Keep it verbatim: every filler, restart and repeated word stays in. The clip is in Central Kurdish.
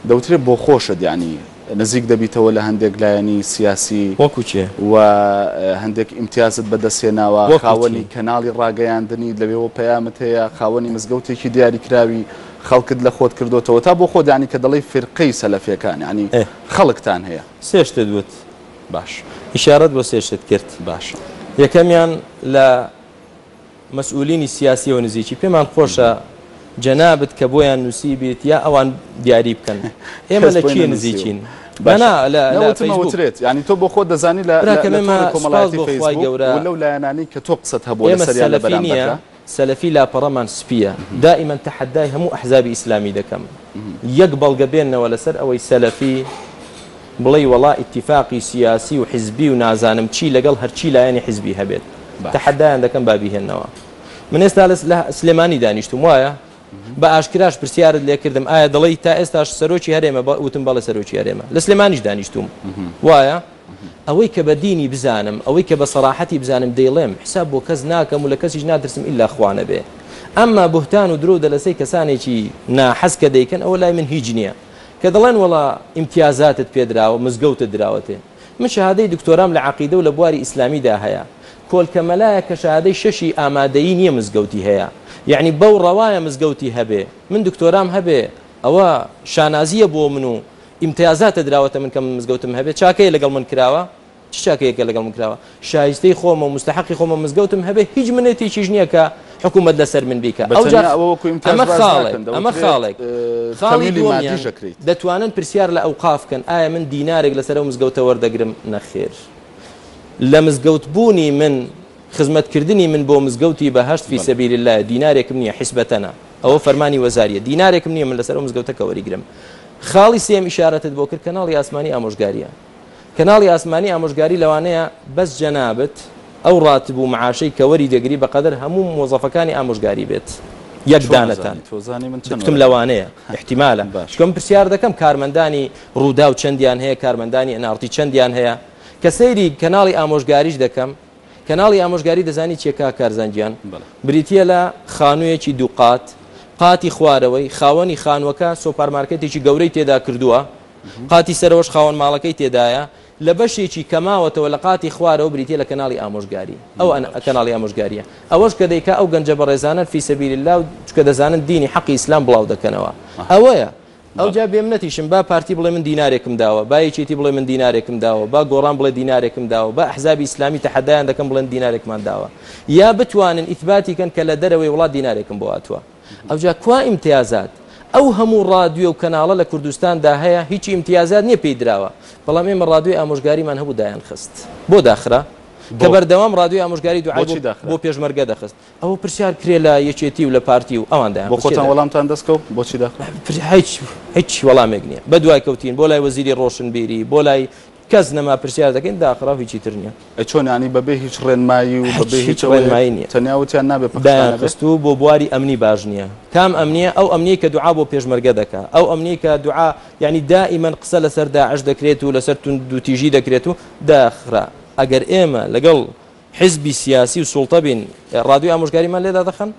دەوترێت بۆ خۆشت یعنی نزیک دەبیتەوە لە هەندێک لایەنی سیاسی وەکو چێ و هەندێک ئیمتیازت بەدەستهێناوە، خاوەنی کەناڵی ڕاگەیاندنی لەوێوە پەیامت هەیە، خاوەنی مزگەوتێکی دیاریکراوی خەڵکت لە خۆت کردوتەوە تا بۆ خۆت یعنی کە دەڵێی فیرقەی سەلەفیەکان یعنی خەڵکتان هەیە. سێ شتت وت. باش. ئیشارەت بۆ سێ شت کرد. باشە. یەکەمیان لە مەسئولینی سیاسیەوە نزیکی پێمان خۆشە جەنابت کە بۆیان نووسی بێت یا ئەوان دیاری بکەن. ئێمە لە کێ نزیکین؟ نا لە فەیسبوک. یعنی تۆ بۆ خۆت دەزانی لە تۆڕی کۆمەڵایەتی فەیسبوک و لەو لایەنانەی کە تۆ قسەت هەبوو لەسەریان لە بەرامبەردا. سەلەفی لاپەڕەمان سپیە. دائما تەحەدای هەموو ئەحزابی ئیسلامی دەکەم. یەک بەڵگە بێنەوە لەسەر ئەوەی سەلەفی بڵێ وەڵا ئیتیفاقی سیاسی و حیزبی و نازانم چی لەگەڵ هەرچی لایەنی حیزبی هەبێت. تەحەدایان دەکەم با بیهێننەوە. من ئێستا لە سلێمانی دانیشتم وایە؟ بە ئاشکراش پرسیارت لێکردم ئایا دەڵێی تا ئێستاش سەرۆکی هەرێمە؟ وتم بەڵێ سەرۆکی هەرێمە. لە سلێمانیش دانیشتوم وایە؟ ئەوەی کە بە دینی بزانم، ئەوەی کە بە سەراحەتی بزانم دەیڵێم، حساب بۆ کەس ناکەم و لە کەسیش ناترسم ئیلا خوانە بێ. ئەمما بوهتان و درۆ و دەلەسەی کەسانێکی ناحەز کە دەیکەن ئەوە لای من هیچ نییە. کە دەڵێن وەڵا ئیمتیازاتت پێدراوە، مزگەوتت دراوەتێ. من شەهادەی دکتۆرام لە عەقیدە و لە بواری ئیسلامیدا هەیە. کۆلکە مەلایە کە شەهادەی شەشی ئامادەیی نییە مزگەوتی هەیە. یعنی بەو ڕەوایە مزگەوتی هەبێ. من دکتۆرام هەبێ، ئەوە شانازیە بۆ من و ئیمتیازاتە دراوەتە من کە من مزگەوتم هەبێ. چاکەیە لەگەڵ من کراوە؟ چ چاکەیەکە لەگەڵ من کراوە؟ شایستەی خۆمە و مستحقی خۆمە مزگەوتم هەبێ، هیچ منێتێکیش نییە کە حکوومەت لەسەر من بیکە. ئەو جا ئەمە خاڵێک، ئەمە خاڵێک. خاڵی دووەمیان دەتوانن پرسیار لە ئەوقاف بکەن ئایا من دینارێک لەسەر ئەو مزگەوتە وەردەگرم؟ نەخێر. لە مزگەوت بوونی من، خزمەتکردنی من بۆ مزگەوتی بەهەشت فی سەبیل الله دینارێکم نییە، حیسبەتەنە. ئەوە فەرمانی وەزاریە. دینارێکم نییە من لەسەر ئەو مزگەوتە کە وەریگرم. خاڵی سێم ئیشارەتت بۆ کرد کەناڵی ئاسمانی ئامۆژگاریە. کەناڵی ئاسمانی ئامۆژگاری لەوانەیە بەس جەنابت ئەو ڕاتب و معاشەی کە وەری دەگری بەقەدەر هەموو مۆزەفەکانی ئامۆژگاری بێت. یەک دانەتان گوتم لەوانەیە احتیمالە. چونکە من پرسیار دەکەم کارمەندانی ڕووداو چەندیان هەیە، کارمەندانی ئەنارتی چەندیان هەیە. کە سەیری کەناڵی ئامۆژگاریش دەکەم، کەناڵی ئامۆژگاری دەزانی چیە کاک کارزان گیان؟ بریتیە لە خانوویەکی دوو قات، قاتی خوارەوەی خاوەنی خانووەکە سۆپەرمارکێتێکی گەورەی تێدا کردووە، قاتی سەرەوەش خاوەن ماڵەکەی تێدایە، لە بەشێکی کەماوەتەوە لە قاتی خوارەوە بریتیە لە کەناڵی ئامۆژگاری. ئەو کەناڵی ئامۆژگاریە. ئەوەش کە دەیکا ئەو گەنجە بەڕێزانن فی سەبیل الله چکە دەزانن دینی حەقی ئیسلام بڵاو دەکەنەوە. ئەوەیە. ئەو جا بێمنەتیشم با پارتی بڵێ من دینارێکم داوە، با یەکێتی بڵێ من دینارێکم داوە، با گۆڕان بڵێ دینارێکم داوە، با ئەحزابی ئیسلامی تەحەدایان دەکەم بڵێن دینارێکمان داوە، یا بتوانن ئیثباتی کەن کە لە دەرەوەی وڵات دینارێکم بۆ هاتووە. ئەو جا کوا ئیمتیازات؟ ئەو هەموو ڕادیۆ و کەناڵە لە کوردستاندا هەیە هیچ ئیمتیازات نییە پێی دراوە، بەڵام ئێمە ڕادیۆی ئامۆژگاریمان هەبوو دایان خست. بۆ داخرا؟ کە بەردەوام ڕادیۆی ئامۆژگاری دوعای بۆ پێشمەرگە دەخست. ئەوە پرسیار کرێ لە یەکێتی و لە پارتی و ئەوان دایان بۆ خۆتان وەڵامتان دەستکەوت؟ بۆچی داخرا؟ هیچ هیچ وەڵامێک نییە. بە دوای کەوتین بۆ لای وەزیری ڕۆشنبیری، بۆ لای کەس نەما پرسیار دەکەین داخرا و هیچی تر نییە. ئەی چۆن یعنی بەبێ هیچ ڕێنمایی و بەبێ هیچ ڕێنمایی نییە؟ تەنیا وتیان نابێ پەخشانە دایان خست و بۆ بواری ئەمنی باش نییە. کام ئەمنیە؟ ئەو ئەمنیە کە دوعا بۆ پێشمەرگە دەکا، ئەو ئەمنیە کە دوعا یعنی دائما قسە لەسەر داعش دەکرێت و لەسەر توندوتیژی دەکرێت و داخرا. ئەگەر ئێمە لەگەڵ حزبی سیاسی و سوڵتە بین ڕادیۆی ئامۆژگاریمان لێدا دەخەن؟